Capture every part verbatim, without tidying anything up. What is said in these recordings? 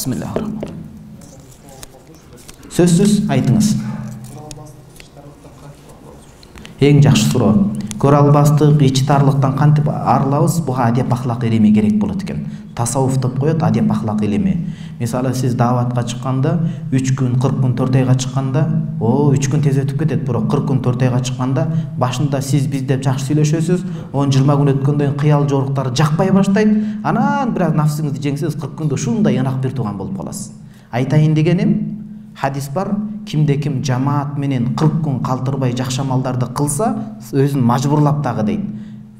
Бисмиллахир-рахманир-рахим. Сөзсүз айтыңыз. Эң жакшы суроо. Көрө албастык, ичтарлыктан кантип арылабыз? Буга адеп ахлак илими керек болот экен. Тасаввуф деп коет, адеп ахлак илими. Мисалы сиз дааватка чыкканда үч күн, кырк күн, төрт айга чыкканда, о, үч күн тез өтүп кетет, бирок кырк күн, төрт айга чыкканда башында сиз биз деп жакшы сүйлөшөсүз, он жыйырма күн өткөндөн кийин кыял жоруктары жакпай баштайт. Анан бир аз нафсиңизди жеңсеңиз кырк күндө ушундай ынак бир тууган болуп каласыз. Айтайын дегеним, хадис бар, кимде ким жамаат менен кырк күн калтырбай жакшы амалдарды кылса, өзүн мажбурлап дагы дейт.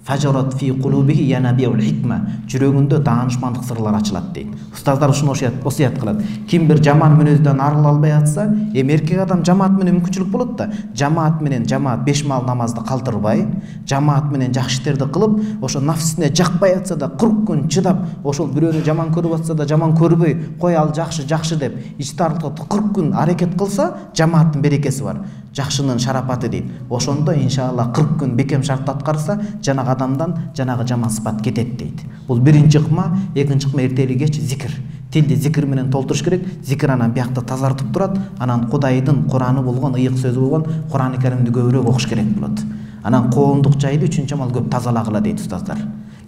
Фажарат фи кулубихи янабиул хикма. Жүрөгүндө даанышмандык сырлар ачылат дейт. Устаздар ушуну осуят кылат. Ким бир жаман мүнөздөн арыла албай атса, эми эркек адам жамаат менен мүмкүнчүлүк болот да. Жамаат менен жамаат беш маал намазды калтырбай, жамаат менен жакшы иштерди кылып, ошо нафсине жакпай атса да кырк күн чыдап, ошол бирөөнү жаман көрүп атса да жаман көрбөй, кой ал жакшы, жакшы деп ичтарлыкта кырк күн аракет кылса, жамааттын берекеси бар. Жакшынын шарапаты дейт. Ошондо иншалла кырк күн бекем шартты аткарса, жанагы адамдан жанагы жаман сыпат кетет дейт. Бул биринчи ыкма, экинчи ыкма эртели кеч зикир. Тилди зикир менен толтуруш керек. Зикир анан биякты тазартып турат. Анан Кудайдын Кураны болгон, ыйык сөзү болгон Курани Каримди көбүрөөк окуш керек болот. Анан коомдук жайды үчүнчү амал көп тазалагыла дейт устаздар.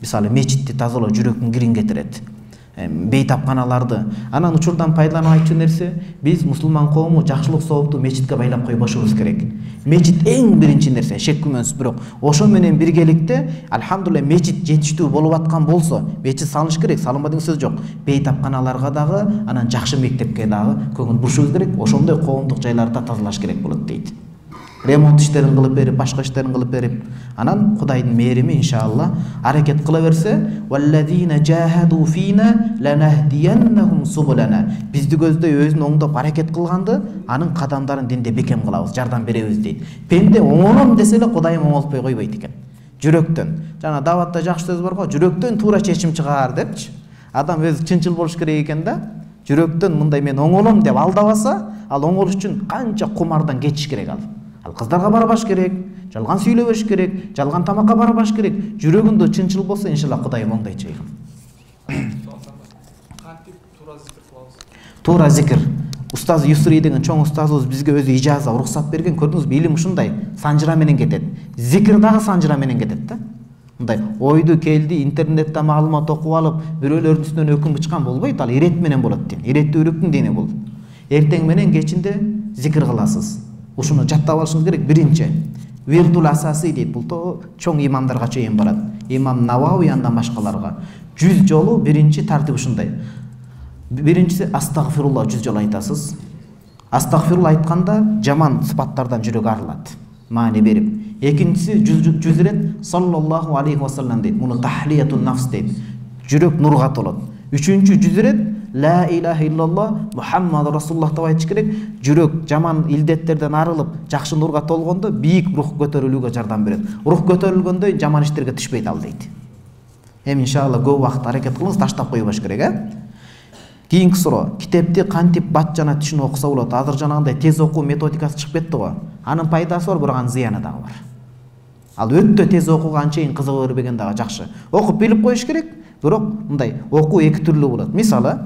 Мисалы мечитти тазалоо жүрөктүн кирин кетирет. Бейтапканаларды. Анан учурдан пайдаланып айтчу нерсе, биз мусулман коому жакшылык соопту мечитке байлап койбошубуз керек. Мечит эң биринчи нерсе, шек күмөнсүз, бирок ошо менен биргеликте алхамдулилlah мечит жетиштүү болуп аткан болсо, мечит салыныш керек, салынба деген сөз жок. Бейтапканаларга дагы, анан жакшы мектепке дагы көңүл бурушубуз керек. Ошондой коомдук жайларда тазалаш керек болот дейт. Ремонт иштерин кылып берип, башка иштерин кылып берип, анан Кудайдын мээрими иншалла аракет кыла берсе, валлазина жахаду фина ланахдияннахум субулана. Бизди көздөй өзүн оңдоп аракет кылганды, анын кадамдарын динде бекем кылабыз, жардам беребиз дейт. Пенде оңолом десе эле Кудайым оңолтпой койбойт экен. Жүрөктөн. Жана даватта жакшы сөз бар го, жүрөктөн туура чечим чыгаар депчи. Адам өзү чынчыл болуш керек экен да. Жүрөктөн мындай мен оңолом деп алдабаса, ал оңолуш үчүн канча кумардан кетиш керек ал. Ал кыздарга барбаш керек, жалган сүйлөбөш керек, жалган тамакка барбаш керек. Жүрөгүндө чынчыл болсо, иншалла Кудайым оңдойт чейгим. Кантип туура зикир кылабыз? Туура зикир. Устаз Юсри деген чоң устазыбыз бизге өзү ижаза, уруксат берген. Көрдүңүзбү, илим ушундай, санжыра менен кетет. Зикир дагы санжыра менен кетет да. Мындай ойду келди, интернетте маалымат окуп алып, бирөөлөрдүн үстүнөн өкүм бычкан болбойт, ал ирет менен болот дейм. Иреттүүлүктүн дини бул. Эртең менен кечинде зикир кыласыз. Ушуну жаттап алышыңыз керек. Биринчи виртул асасы дейт. Бул чоң имамдарга чейин барат. Имам Навауи андан башкаларга жүз жолу биринчи тартип ушундай. Биринчиси астагфирулла жүз жолу айтасыз. Астагфирулла айтканда жаман сыпаттардан жүрөк арылат. Маани берип. Экинчиси жүз ирет саллаллаху алейхи вассалам дейт. Муну тахлиятун нафс дейт. Жүрөк нурга толот. Үчүнчү жүз ирет ла илаха иллаллах Мухаммад расулуллах деп айтыш керек. Жүрөк жаман илдеттерден арылып, жакшы нурга толгондо бийик рух көтөрүлүүгө жардам берет. Рух көтөрүлгөндө жаман иштерге түшпөйт ал дейт. Эми иншалла көп убакыт аракет кылыңыз, таштап койбош керек, э? Кийинки суроо. Китепти кантип бат жана түшүнүп окуса болот? Азыр жанагындай тез окуу методикасы чыгып кетти го. Анын пайдасы бар, бирок анын зыяны дагы бар. Ал өтө тез окууга анчейин кызыга бербеген дагы жакшы. Окуп билип коюш керек, бирок мындай окуу эки түрлүү болот. Мисалы,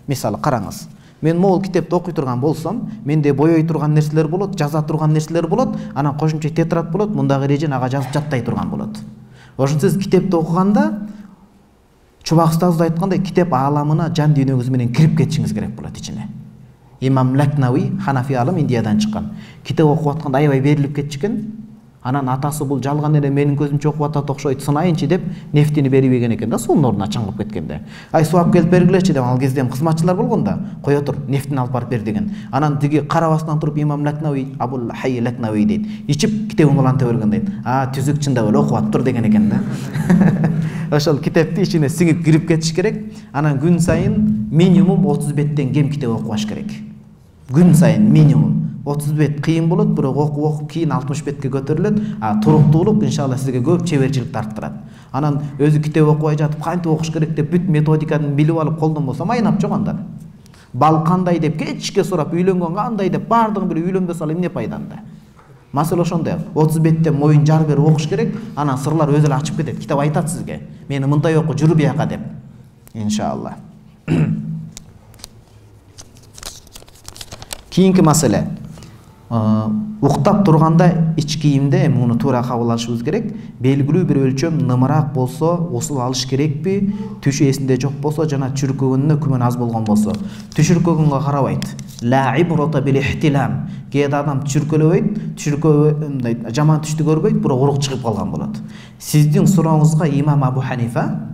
мисалы караңыз. Мен могул китепти окуй турган болсом, менде боёй турган нерселер болот, жаза турган нерселер болот, анан кошумча тетрад болот, мундагы эреже ага жазып жаттай турган болот. Ошон сиз китепти окуганда Чубак устазыбыз айткандай, китеп ааламына жан дүйнөгүз менен кирип кетишиңиз керек болот ичине. Имам Лакнауи, Ханафи алым, Индиядан чыккан. Китеп окуп атканда аябай берилип кетчикен. Анан атасы бул жалган эле менин көзүмчө окуп атат окшойт, сынайынчы деп нефтини берибеген экен да, суунун ордуна чаңгып кеткенде. Ай сууап келип бергилечи деп, ал кезде кызматчылар болгон да, кое тур, нефтини алып барып бер деген. Анан тиги карабастан туруп Имам Лакнауи, Абул Хай Лакнауи дейт. Ичип китебин уланта берген дейт. А, түзүк чындап эле окуп атыптыр деген экен да. Ошол китепти ичине сиңип кирип кетиш керек. Анан күн сайын минимум отуз беттен кем китеп окубаш керек. Күн сайын минимум отуз бет кыйын болот, бирок окуп окуп кийин алтымыш бетке көтөрүлөт. А туруктуулук иншалла сизге көп чеберчилик арттырат. Анан өзү китеп окубай жатып кантип окуш керек деп бүт методиканы билип алып колдон болсо майнап жок анда. Бал кандай деп кечке сурап, үйлөнгөн кандай деп баардыгын билип үйлөнбөсө ал эмне пайданда? Маселе ошондой. отуз беттен моюн жар берип окуш керек, анан сырлар өзү эле ачып кетет. Китеп айтат сизге. Мени мындай оку, жүрү бияка деп. Иншалла. Кийинки маселе. Уктап турганда ич кийимде муну туура кабыл алышыбыз керек. Белгилүү бир өлчөм нымыраак болсо, усул алыш керекпи? Түшү эсинде жок болсо жана чүркөгөнүнө күмөн аз болгон болсо, түшүркөгөнгө карабайт. Ла ибрата бил ихтилам. Кээде адам чүркөлөбөйт, чүркөө мындай жаман түштү көрбөйт, бирок урук чыгып калган болот. Сиздин сурооңузга имам Абу Ханифа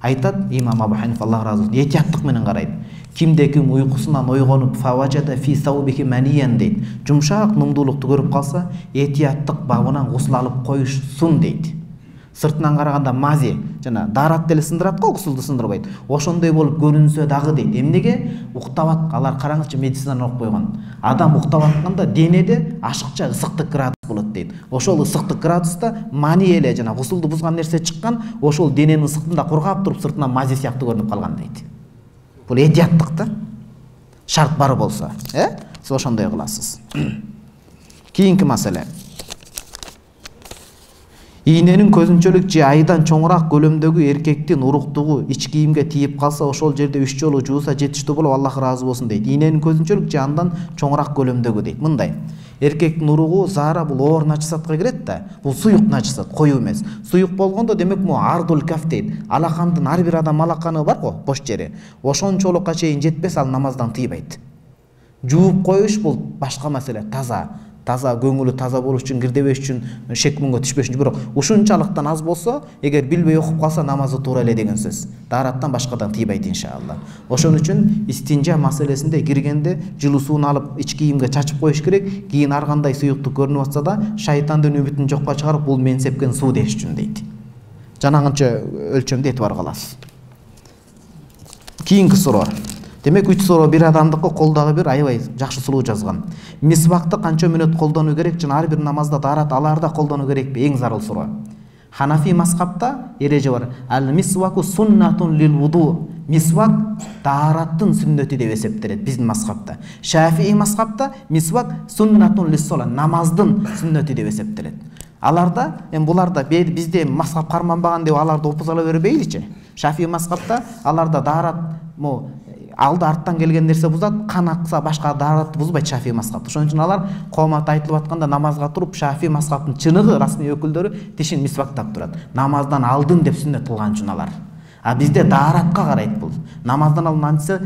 айтат, имам Абу Ханифа Аллах разы болсун, этияттык менен карайт. Кимде ким уйкусунан ойгонуп фаважада фи саубихи маниян дейт. Жумшак нумдуулукту көрүп калса, этияттык бабынан гусул алып коюшсун дейт. Сыртынан караганда мази жана дарат деле сындырат го, гусулду сындырбайт. Ошондой болуп көрүнсө дагы дейт. Эмнеге? Уктап алар караңызчы, медицинаны окуп койгон. Адам уктап атканда денеде ашыкча ысыктык градус болот дейт. Ошол ысыктык градуста мани эле жана гусулду бузган нерсе чыккан, ошол дененин ысыктыгында кургап туруп сыртынан мази сыяктуу көрүнүп калган дейт. Бул этияттык да. Шарт бар болсо, э? Сиз ошондой кыласыз. Кийинки маселе. Ийненин көзүнчөлүк же айдан чоңураак көлөмдөгү эркектин уруктугу ич кийимге тийип калса, ошол жерде үч жолу жууса жетиштүү болуп, Аллах ыраазы болсун дейт. Ийненин көзүнчөлүк же андан чоңураак көлөмдөгү дейт. Мындай. Эркектин уругу зара бул оор начисатка кирет да. Бул суюк начисат, коюу эмес. Суюк болгондо демек му ардул каф дейт. Алакандын ар бир адам алаканы бар го, бош жери. Ошончолукка чейин жетпес, ал намаздан тыйбайт. Жууп коюш бул башка маселе, таза. Таза көңүлү таза болуш үчүн, кирдебеш үчүн, шек муңга түшпөш үчүн, бирок ушунчалыктан аз болсо, эгер билбей окуп калса, намазы туура эле деген сөз. Дараттан башкадан тийбайт иншалла. Ошон үчүн истинжа маселесинде киргенде жылуу сууну алып ич кийимге чачып коюш керек. Кийин ар кандай суюктук көрүнүп атса да, шайтандын үмүтүн жокко чыгарып, бул мен сепкен суу деш үчүн дейт. Жанагынча өлчөмдө этибар кыласыз. Кийинки суроо. Демек үч суроо бир адамдыкы, колдагы бир аябай жакшы сулуу жазган. Мисвакты канча мүнөт колдонуу керек жана ар бир намазда дарат аларда колдонуу керекпи? Эң зарыл суроо. Ханафи мазхабта эреже бар. Ал мисваку суннатун лил вуду. Мисвак дараттын сүннөтү деп эсептелет биздин мазхабта. Шафии мазхабта мисвак суннатун лис сола, намаздын сүннөтү деп эсептелет. Аларда, эми буларда бизде мазхаб карманбаган деп аларды опузала бербейличи. Шафии мазхабта аларда дарат мо алды арттан келген нерсе бузат, кан акса башка даратты бузбайт Шафии мазхабы. Ошон үчүн алар коомат айтылып атканда намазга туруп Шафии мазхабынын чыныгы расмий өкүлдөрү тишин мисвактап турат. Намаздан алдын деп сүннөт кылган үчүн алар. А бизде даратка карайт бул. Намаздан алдын антса,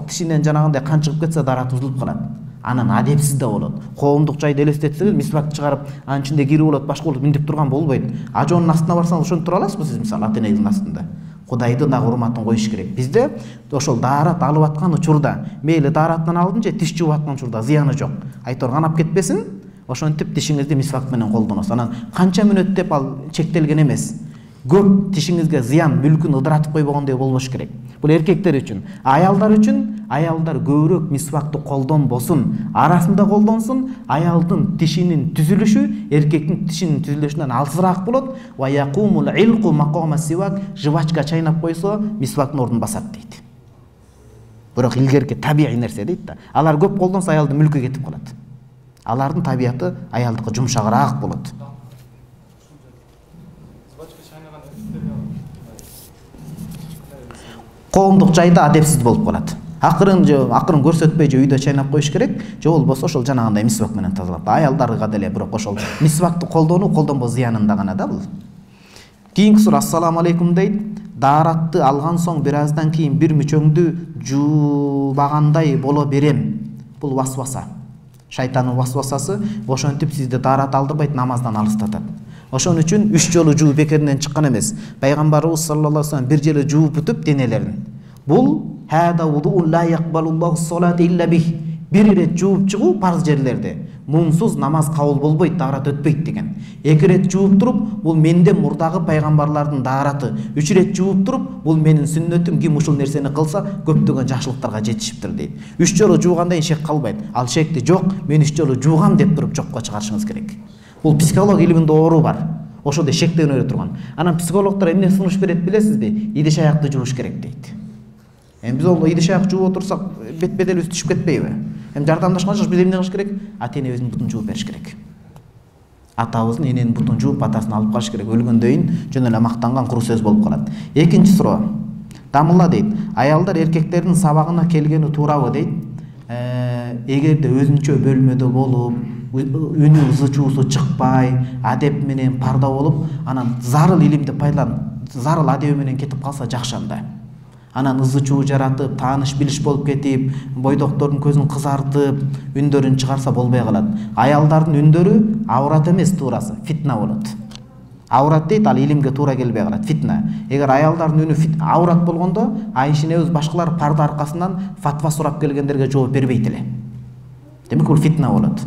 тишинен жанагындай кан чыгып кетсе дарат бузулуп калат. Анан адепсиз да болот. Коомдук жайды элестетсеңиз, мисвак чыгарып, анын ичинде кирип болот, башка болот, минтип турган болбойт. Ажонун астына барсаңыз ошентип тура аласызбы сиз, мисалы, ата-энеңиздин астында? Кудайды да урматын коюш керек. Бизде ошол дарат алып аткан учурда, мейли дараттан алдын же тиш жууп аткан учурда зыяны жок. Айтор канап кетпесин, ошентип тишиңизди мисвак менен колдоносуз. Анан канча мүнөт деп ал чектелген эмес. Көп тишиңизге зыян, мүлкүн ыдыратып койбогондой болбош керек. Бул эркектер үчүн. Аялдар үчүн, аялдар көбүрөөк мисвакты колдонбосун, арасында колдонсун. Аялдын тишинин түзүлүшү эркектин тишинин түзүлүшүнөн алсыраак болот. Ва якумул илqu мaqama сивак, жвачка чайнап койсо, мисвактын ордун басат дейт. Бирок илгерки табигый нерсе дейт да. Алар көп колдонсо аялдын мүлкү кетип калат. Алардын табияты аялдыкы жумшагыраак болот. Коомдук жайда адепсиз болуп калат. Акырын же акырын көрсөтпөй же үйдө чайнап коюш керек. Же болбосо ошол жанагындай мисвак менен тазалап. Аялдарга деле бирок ошол мисвакты колдонуу колдонбоо зыянында гана да бул. Кийинки суроо. Ассаламу алейкум дейт. Даратты алган соң бир аздан кийин бир мүчөңдү жуубагандай боло берем. Бул васваса. Шайтандын васвасасы ошентип сизди дарат алдырбайт, намаздан алыстатат. Ошон үчүн үч жолу жуу бекеринен чыккан эмес. Пайгамбарыбыз саллаллаху алейхи ва саллям бир жолу жууп бүтүп денелерин. Бул хада вудуу ла якбалуллаху салата илля бих. Бир ирет жууп чыгуу парз жерлерде. Мунсуз намаз кабыл болбойт, дарат өтпөйт деген. Эки ирет жууп туруп, бул менден мурдагы пайгамбарлардын дараты. Үч ирет жууп туруп, бул менин сүннөтүм, ким ушул нерсени кылса, көптөгөн жакшылыктарга жетишиптир дейт. Үч жолу жуугандан шек калбайт. Ал шекти жок, мен үч жолу жуугам деп туруп жокко чыгарышыңыз керек. Бул психолог илиминде оору бар. Ошондой шектенүү турган. Анан психологдор эмне сунуш берет билесизби? Идиш аякты жууш керек дейт. Эми биз ол идиш аяк жууп отурсак, бет-беделибиз түшүп кетпейби? Эми жардамдашканча биз эмне кылыш керек? Ата-энебиздин бутун жууп бериш керек. Атабыздын эненин бутун жууп атасын алып калыш керек. Өлгөндөн жөн эле мактанган куру сөз болуп калат. Экинчи суроо. Дамылла дейт. Аялдар эркектердин сабагына келгени туурабы дейт. эгерде өзүнчө бөлмөдө болуп, үнү ызы чуусу чыкпай, адеп менен парда болуп, анан зарыл илимди пайдаланып, зарыл адеби менен кетип калса жакшы анда. Анан ызы чуу жаратып, тааныш билиш болуп кетип, бойдоктордун көзүн кызартып, үндөрүн чыгарса болбой калат. Аялдардын үндөрү аврат эмес, туурасы фитна болот. Аврат дейт, ал илимге туура келбей калат, фитна. Эгер аялдардын үнү аврат болгондо, Айшенебиз башкалар парда аркасынан фатва сурап келгендерге жооп бербейт эле. Демек бул фитна болот.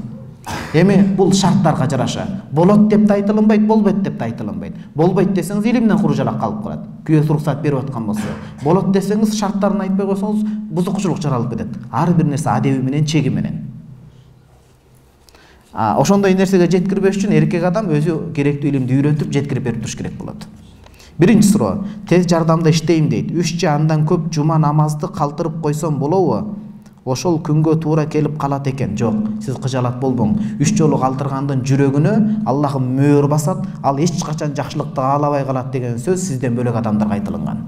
Эми бул шарттарга жараша. Болот деп да айтылынбайт, болбойт деп да айтылынбайт. Болбойт десеңиз илимден куружалак калып калат. Күйөөсү уруксат берип аткан болсо. Болот десеңиз шарттарын айтпай койсоңуз бузукчулук жаралып кетет. Ар бир нерсе адеби менен, чеги менен. А ошондой нерсеге жеткирбеш үчүн эркек адам өзү керектүү илимди үйрөтүп, жеткирип берип туруш керек болот. Биринчи суроо: тез жардамда иштейм дейт. үч же андан көп жума намазды калтырып койсом болобу? Ошол күнгө туура келип калат экен. Жок, сиз кыжалат болбоң. үч жолу калтыргандын жүрөгүнө Аллах мөөр басат, ал эч качан жакшылыкты каалабай калат деген сөз сизден бөлөк адамдарга айтылган.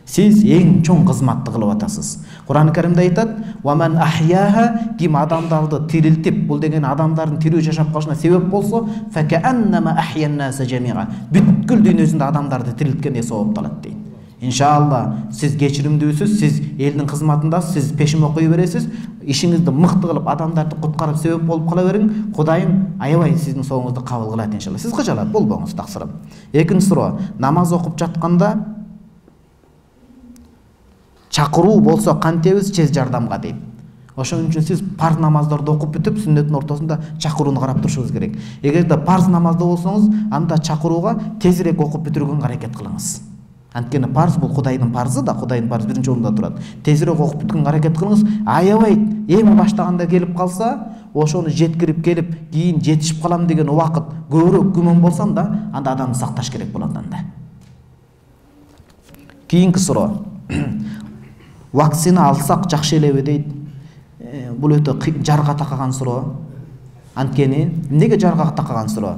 Сиз эң чоң кызматты кылып атасыз. Кур'ан Каримде айтат: "Ва ман ахяха", ким адамдарды тирилтип, бул деген адамдардын тирүү жашап калышына себеп болсо, факааннама ахяннаса жамига, бүткүл дүйнөсүндө адамдарды тирилткендей соопталат дейт. Иншалла, сиз кечиримдүүсүз, сиз элдин кызматындасыз, сиз пешим окуй бересиз, ишиңизди мыкты кылып адамдарды куткарып себеп болуп кала бериң, Кудайым аябай сиздин соңуңузду кабыл кылат иншалла. Сиз кыжалат болбоңуз, таксырым. Экинчи суроо: намаз окуп жатканда чакыруу болсо кантебиз тез жардамга дейт. Ошон үчүн сиз парз намаздарды окуп бүтүп, сүннөттүн ортосунда чакырууну карап турушуңуз керек. Эгерде парз намазда болсоңуз, анда чакырууга тезирээк окуп бүтүргөнгө аракет кылыңыз. Анткени парз бул Кудайдын парзы да, Кудайдын парзы биринчи орунда турат. Тезирээк окуп бүткөнгө аракет кылыңыз. Аябай эми баштаганда келип калса, ошону жеткирип келип, кийин жетишип калам деген убакыт көбүрөөк күмөн болсам да, анда адамды сакташ керек болот анда. Кийинки суроо: вакцина алсак жакшы элеби дейт. Бул өтө жарга такаган суроо. Анткени эмнеге жарга такаган суроо?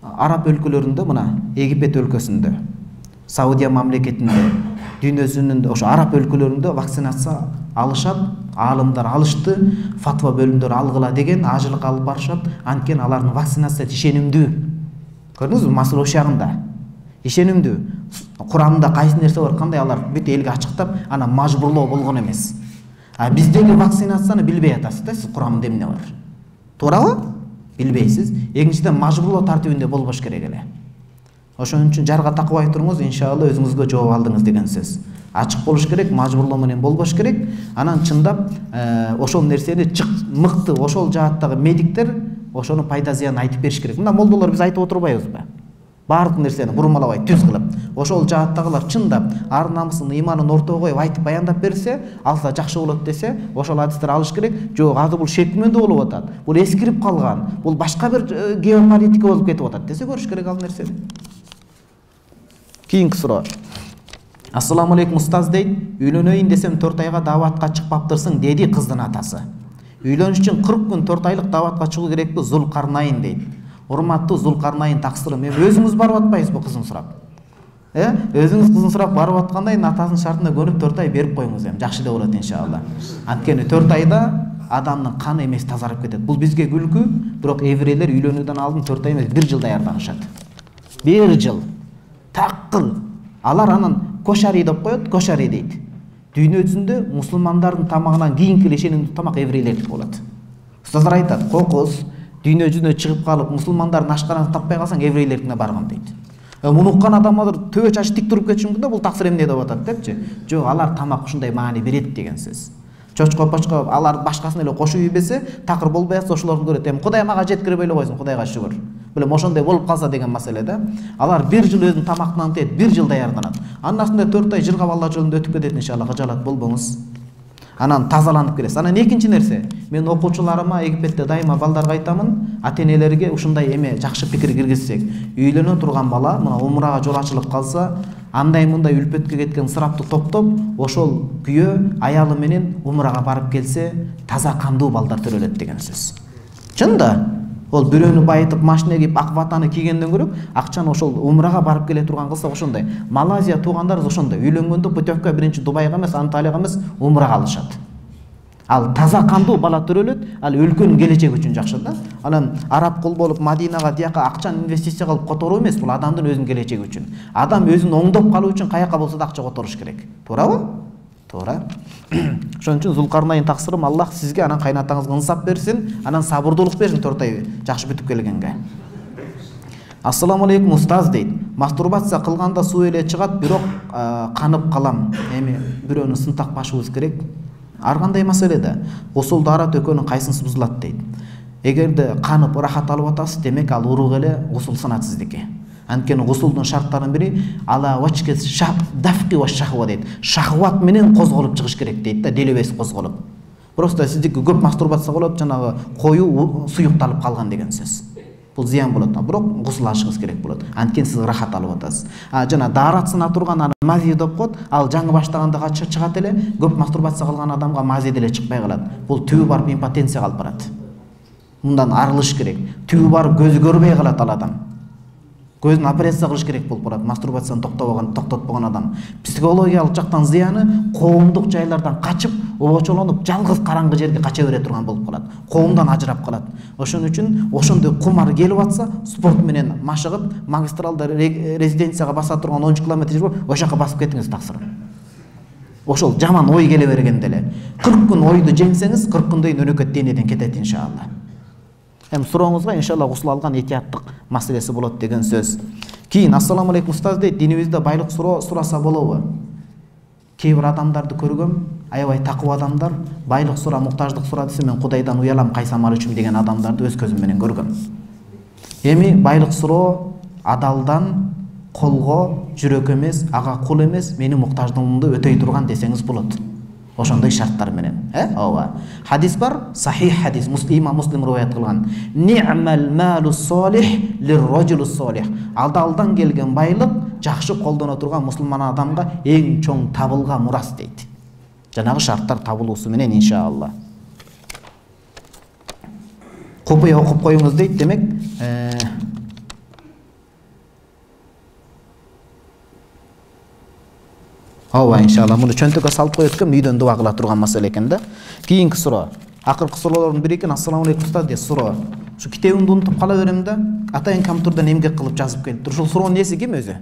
Араб өлкөлөрүндө, мына Египет өлкөсүндө, Саудия мамлекетинде, дүйнөсүнүн ошо араб өлкөлөрүндө вакцинация алышат, аалымдар алышты, фатва бөлүмдөрү алгыла деген ажылык алып барышат. Анткени алардын вакцинациясы ишенимдүү. Көрдүңүзбү, масыл ошягында. Ишенимдүү. Курамында кайсы нерсе бар, кандай алар бүт элге ачыктап, ана мажбурлоо болгон эмес. А биздеги вакцинацияны билбей атасыз да, сиз курамында эмне бар. Туурабы? Билбейсиз. Экинчиден мажбурлоо тартибинде болбош керек эле. Ошон үчүн жарга такыбай туруңуз, иншалла өзүңүзгө жооп алдыңыз деген сөз. Ачык болуш керек, мажбурлоо менен болбош керек. Анан чындап ошол нерсени мыкты, ошол жааттагы медиктер ошону пайда зыянын айтып бериш керек. Мына молдолор биз айтып отурбайбызбы? Бардык нерсени бурмалабай, түз кылып, ошол жааттагылар чындап ар намысын, ыйманын ортого коюп айтып баяндап берсе, алса жакшы болот десе, ошол адистер алыш керек. Жок, азыр бул шек күмөндө болуп атат. Бул эскирип калган. Бул башка бир геополитика болуп кетип атат десе көрүш керек ал нерсени. Кийинки суроо: Ассаламу алейкум устаз дейт. Үйлөнөйүн десем төрт айга дааватка чыкпаптырсың деди кыздын атасы. Үйлөнүш үчүн кырк күн төрт айлык дааватка чыгуу керекпи? Зулкарнайын дейт. Урматтуу Зулкарнайын таксырым, эми өзүңүз барып атпайсызбы кызын сурап? Э? Өзүңүз кызын сурап барып атканда эми атасынын шартына көнүп төрт ай берип коюңуз эми, жакшы да болот иншалла. Анткени төрт айда адамдын каны эмеси тазарып кетет. Бул бизге күлкү, бирок еврейлер үйлөнүүдөн алдын төрт ай эмес, бир жыл даярданышат. бир жыл. Таккыл. Алар анан кошари деп коет, кошари дейт. Дүйнө жүзүндө мусулмандардын тамагынан кийинки эле ишенимдүү тамак еврейлердики болот. Устаздар айтат, кокус дүйнө жүзүнө чыгып калып, мусулмандардын ашканасын таппай калсаң еврейлердикине барган дейт. Муну уккан адам азыр төбө чачы тик туруп кетиши мүмкүн да, бул таксыр эмне деп атат депчи. Жок, алар тамак ушундай маани берет деген сөз. Чочко пачко алар башкасын эле кошуп ийбесе, такыр болбой атса ошолорду көрөт. Эми Кудай мага жеткирип эле койсун, Кудайга шүгүр. Билем ошондой болуп калса деген маселе да. Алар бир жыл өзүнүн тамактан тет, бир жыл даярданат. Андан соң төрт ай жыргап Алла жолунда өтүп кетет иншалла, кыжалат болбоңуз. Анан тазаланып келесиз. Анан экинчи нерсе, мен окуучуларыма Египетте дайыма балдарга айтамын, ата-энелерге ушундай эме жакшы пикир киргизсек. Үйлөнө турган бала мына умрага жол ачылып калса, андай мындай үлпөткө кеткен ысырапты топтоп, ошол күйөө аялы менен умрага барып келсе, таза кандуу балдар төрөлөт деген сөз. Чын да. Ол бирөөнү байытып, машина кийип, ак ватаны кийгенден көрөп, акчаны ошол умрага барып келе турган кылса ошондой. Малайзия туугандар ошондой. Үйлөнгөндө путевка биринчи Дубайга эмес, Анталияга эмес, умрага алышат. Ал таза кандуу бала төрөлөт, ал өлкөнүн келечеги үчүн жакшы да. Анан араб кул болуп Мадинага тияка акчаны инвестиция кылып которуу эмес, бул адамдын өзүнүн келечеги үчүн. Адам өзүн оңдоп калуу үчүн каяка болсо да акча которуш керек. Туурабы? Туура. Ошон үчүн Зулкарнайн таксырым Аллах сизге анан кайнатаңызга ынсап берсин, анан сабырдуулук берсин Тортай жакшы бүтүп келгенге. Ассаламу алейкум устаз дейт. Мастурбация кылганда суу эле чыгат, бирок канып калам. Эми бирөөнү сынтакпашыбыз керек. Ар кандай маселеде гусул даарат экөөнүн кайсынысы бузулат дейт. Эгерде канып ырахат алып атасыз, демек ал урук эле гусул сынат сиздики. Анткени гусулдун шарттарынын бири ала вачке дафки ва шахва дейт. Шахват менен козголуп чыгыш керек дейт да, делебес козголуп. Просто сиздики көп мастурбация болот, жанагы кою суюкталып калган деген сөз. Бул зыян болот, бирок гусул алышыңыз керек болот. Анткени сиз ырахат алып атасыз. А жана даарат сына турган аны мази деп коет. Ал жаңы баштаганда качып чыгат эле, көп мастурбация кылган адамга мази деле чыкпай калат. Бул түбү барып импотенцияга алып барат. Мындан арылыш керек. Түбү барып көзү көрбөй калат ал адам. Көзүн операция кылыш керек болуп барат. Мастурбацияны токтобогон, токтотпогон адам. Психологиялык жактан зыяны коомдук жайлардан качып, обочолонуп, жалгыз караңгы жерге кача бере турган болуп калат. Коомдон ажырап калат. Ошон үчүн ошондой кумар келип атса, спорт менен машыгып, магистралда резиденцияга баса турган он үч километр жер бар, ошол жака басып кетиңиз таксырым. Ошол жаман ой келе бергенде эле кырк күн ойду жеңсеңиз, кырк күндөн кийин өнөкөт денеден кетет иншалла. Эми сурооңузга иншалла гусул алган этияттык маселеси болот деген сөз. Кийин ассаламу алейкум устаз дейт, динибизде байлык суроо сураса болобу? Кээ бир адамдарды көргөм, аябай такып адамдар байлык сура, муктаждык сура десе мен Кудайдан уялам, кайсам алычым деген адамдарды өз көзүм менен көргөм. Эми байлык суроо адалдан колго, жүрөк эмес, ага кул эмес, менин муктаждыгымды өтөй турган десеңиз болот. Ошондой шарттар менен, э? Ооба. Хадис бар, сахих хадис, Муслим Муслим риваят кылган. Ни'мал малу солих лир-раджулу солих. Адалдан келген байлык жакшы колдоно турган мусулман адамга эң чоң табылга мурас дейт. Жанагы шарттар табылуусу менен иншалла. Купуя окуп коюңуз дейт, демек, э Ооба, иншалла. Муну чөнтөккө салып коет экен, үйдөн дуа кыла турган маселе экен да. Кийинки суроо. Акыркы суроолордун бири экен. Ассаламу алейкум устаз дейт суроо. Ушу китебимди унутуп кала берем да, атайын компьютерден эмгек кылып жазып келиптир. Ушул суроонун ээси ким өзү?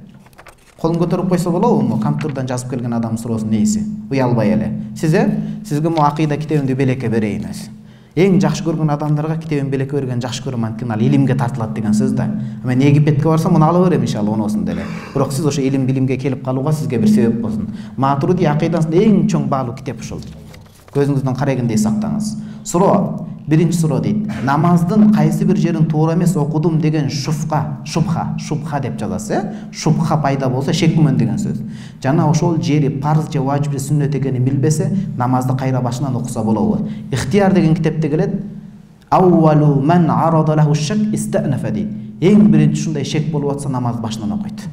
Колун көтөрүп койсо болобу? Компьютерден жазып келген адамдын суроосунун ээси. Уялбай эле. Сиз э? Сизге мо акыйда китебимди белекке берейин өзү. Эң жакшы көргөн адамдарга китебин белекке берген жакшы көрөм, анткени ал илимге тартылат деген сөз да. Мен Египетке барсам, муну ала берем иншалла оносун деле. Бирок сиз ошо илим билимге келип калууга сизге бир себеп болсун. Матуриди акыйдасында эң чоң баалуу китеп ушул. Көзүңүздөн карагандай сактаңыз. Суроо, биринчи суроо дейт. Намаздын кайсы бир жерин туура эмес окудум деген шубха, шубха, шубха деп жазасыз, э? Шубха пайда болсо шек күмөн деген сөз. Жана ошол жери парз же важип же сүннөт экенин билбесе, намазды кайра башынан окуса болобу? Ихтияр деген китепте келет. Аввалу ман арада лаху шак истанафа дейт. Эң биринчи ушундай шек болуп атса, намазды башынан окуйт.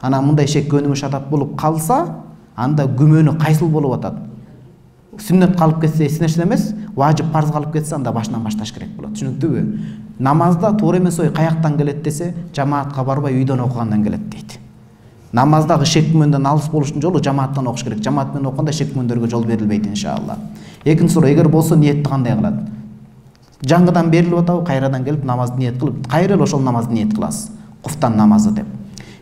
Анан мындай шек көнүмүш адат болуп калса, анда күмөнү кайсыл болуп атат? Сүннөт калып кетсе эч нерсе эмес, важип парз калып кетсе анда башынан башташ керек болот. Түшүнүктүүбү? Намазда туура эмес ой каяктан келет десе, жамаатка барбай үйдөн окугандан келет дейт. Намаздагы шек күмөндөн алыс болуштун жолу жамааттан окуш керек. Жамаат менен окуганда шек күмөндөргө жол берилбейт иншалла. Экинчи суроо, эгер болсо ниетти кандай кылат? Жаңгыдан берилип атабы, кайрадан келип намазды ниет кылып, кайра эле ошол намазды ниет кыласыз. Куфтан намазы деп.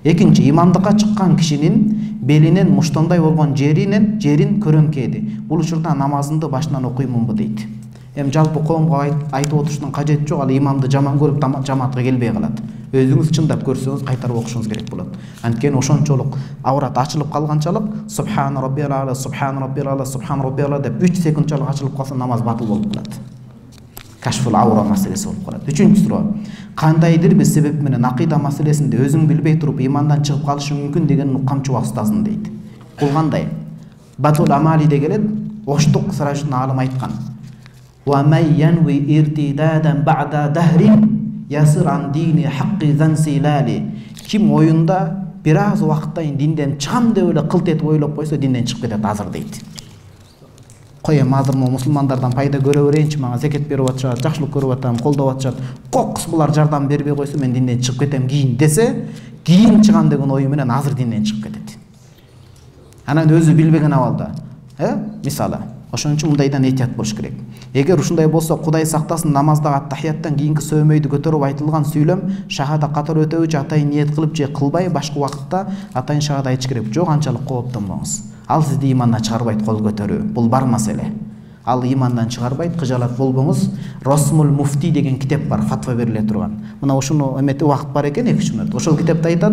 Экинчи, имамдыкка чыккан кишинин белинен муштандай болгон жеринен жерин көрөмкеди. Бул учурда намазымды башынан окуймунбу дейт. Эми жалпы коомго айтып отуруштун кажети жок, ал имамды жаман көрүп жамаатка келбей калат. Өзүңүз чындап көрсөңүз кайтарып окушуңуз керек болот. Анткени ошончолук аврат ачылып калганчалык субхан роббил ала, субхан роббил ала, субхан роббил ала деп үч секундчалык ачылып калса намаз батыл болуп калат. Кашфул аура маселеси болуп калат. Үчүнчү суроо. Кандайдыр бир себеп менен акыйда маселесинде өзүң билбей туруп имандан чыгып калышы мүмкүн деген укамчы устазым дейт. Бул кандай? Батул Амалиде келет, оштук сыражын алым айткан. Ва май янви иртидадан ба'да дахрин ясир ан дини хакки зансилали. Ким оюнда бир аз убакыттан динден чыгам деп эле кылт этип ойлоп койсо, динден чыгып кетет азыр дейт. Коем азыр мо мусулмандардан пайда көрө берейинчи, мага зекет берип атышат, жакшылык көрүп атам, колдоп атышат. Кокус булар жардам бербей койсо мен динден чыгып кетем кийин десе, кийин чыгам деген ою менен азыр динден чыгып кетет. Анан өзү билбеген абалда, э? Мисалы, Ошон үчүн мындайдан этият болуш керек. Эгер ушундай болсо, Кудай сактасын, намаздагы аттахияттан кийинки сөймөйдү көтөрүп айтылган сүйлөм шахада катар өтөбү же атайын ниет кылып же кылбай башка убакытта атайын шахада айтыш керек. Жок, анчалык кооптонбоңуз. Ал сизди имандан чыгарбайт, кол көтөрүү. Бул бар маселе. Ал имандан чыгарбайт, кыжалат болбоңуз. Расмул Муфти деген китеп бар, фатва бериле турган. Мына ушуну эмети убакыт бар экен, эки үч мүнөт. Ошол китепте айтат: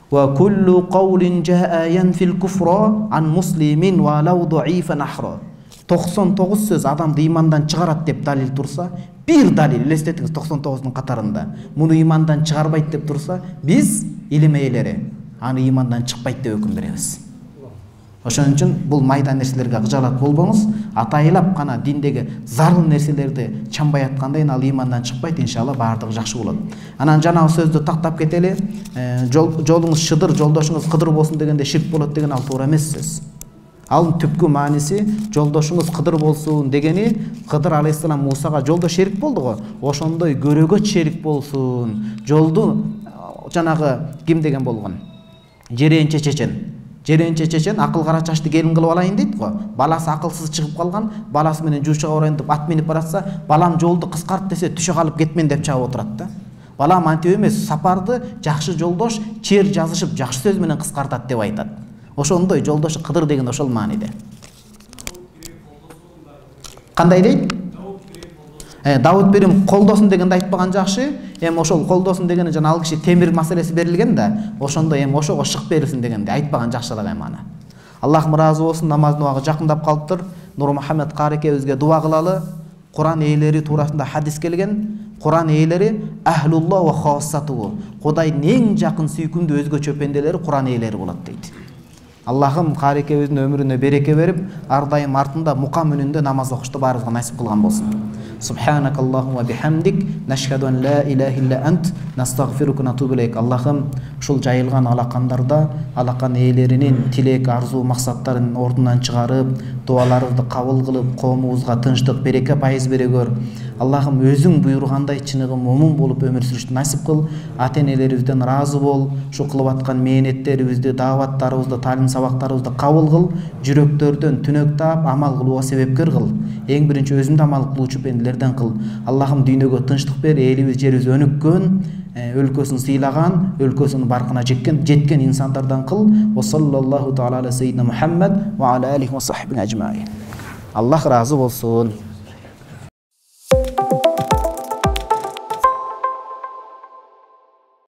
"Ва куллу каулин жаа янфил куфра ан муслимин ва лау даифан ахра." токсон тогуз сөз адамды имандан чыгарат деп далил турса, бир далил, элестетиңиз, токсон тогуздун катарында муну имандан чыгарбайт деп турса, биз илим ээлери аны имандан чыкпайт деп өкүм беребиз. Ошон үчүн бул майда нерселерге кыжалат болбоңуз. Атайлап гана диндеги зарыл нерселерди чамбай аткандан ал имандан чыкпайт, иншалла баардыгы жакшы болот. Анан жанагы сөздү тактап кетели. Жолуңуз шыдыр, жолдошуңуз кыдыр болсун дегенде ширк болот деген ал туура эмес сөз. Ал түпкү мааниси жолдошуңуз кыдыр болсун дегени, Кыдыр алейхиссалам Мусага жолдош шерик болду го. Ошондой көрөгөт шерик болсун. Жолду жанагы ким деген болгон? Жеренче чечен. Жеренче чечен акыл кара чачты келин кылып алайын дейт го. Баласы акылсыз чыгып калган, баласы менен жуучага барайын деп ат минип баратса, балам жолду кыскарт десе, түшө калып кетмен деп чагып отурат да. Балам антип эмес, сапарды жакшы жолдош чер жазышып жакшы сөз менен кыскартат деп айтат. Ошондой жолдошу Кыдыр деген ошол мааниде. Кандай дейт? Э, Давуд Берим колдосун дегенде айтпаган жакшы. Эми ошол колдосун дегени жана ал киши темир маселеси берилген да, ошондой эми ошого шык берилсин дегенде айтпаган жакшыраак эми аны. Аллахым ыраазы болсун, намаздын убагы жакындап калыптыр. Нур Мухаммед кары экебизге дуа кылалы. Куран ээлери туурасында хадис келген. Куран ээлери ахлулла ва хассату. Кудайдын эң жакын сүйкүмдүү өзгөчө пенделери Куран ээлери болот дейт. Аллахым кары экебиздин өмүрүнө береке берип, ар дайым артында мукам үнүндө намаз окушту баарыбызга насип кылган болсун. Субханакаллахумма бихамдик, нашхаду ан ла илаха илля ант, настагфирука ва натубу илейк. Аллахым, ушул жайылган алакандарда алакан ээлеринин тилек, арзу, максаттарын ордунан чыгарып, дуаларыбызды кабыл кылып, коомубузга тынчтык, береке пайыз бере көр. Аллахым, өзүң буйругандай чыныгы момун болуп өмүр сүрүштү насип кыл. Ата-энелерибизден ыраазы бол. Ушу кылып аткан мээнеттерибизди, дааваттарыбызды, таалим сабактарыбызды кабыл кыл. Жүрөктөрдөн түнөк таап, амал кылууга себепкер кыл. Эң биринчи өзүңдү амал кылуучу пенделерден кыл. Аллахым, дүйнөгө тынчтык бер, элибиз, жерибиз өнүккөн, өлкөсүн сыйлаган, өлкөсүнүн баркына жеткен, жеткен инсандардан кыл. Ва саллаллаху таала аля саййидина Мухаммад ва аля алихи ва сахбиhi ажмаин. Аллах ыраазы болсун.